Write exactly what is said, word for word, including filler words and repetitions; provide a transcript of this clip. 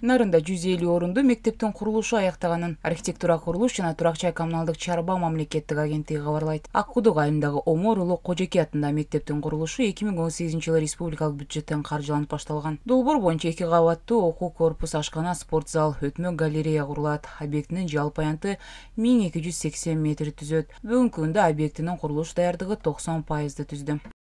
Нарында жүз элүү орундуу мектептин курулушу аяктаганын архитектура, курулуш жана турак жай коммуналдык чарба мамлекеттик агенттиги кабарлайт. Ак Кудук айылындагы Омор Улуу Кожеке атындагы мектептин курулушу эки миң он сегизинчи жылы республикалык бюджеттен каржыланып башталган. Долбоор боюнча эки кабаттуу окуу корпус, ашкана, спорт зал, өтмө галерея курулат. Объектинин жалпы аянты миң эки жүз сексен метр түзөт. Бүгүнкү күндө объектинин курулуш даярдыгы токсон пайызды түздү.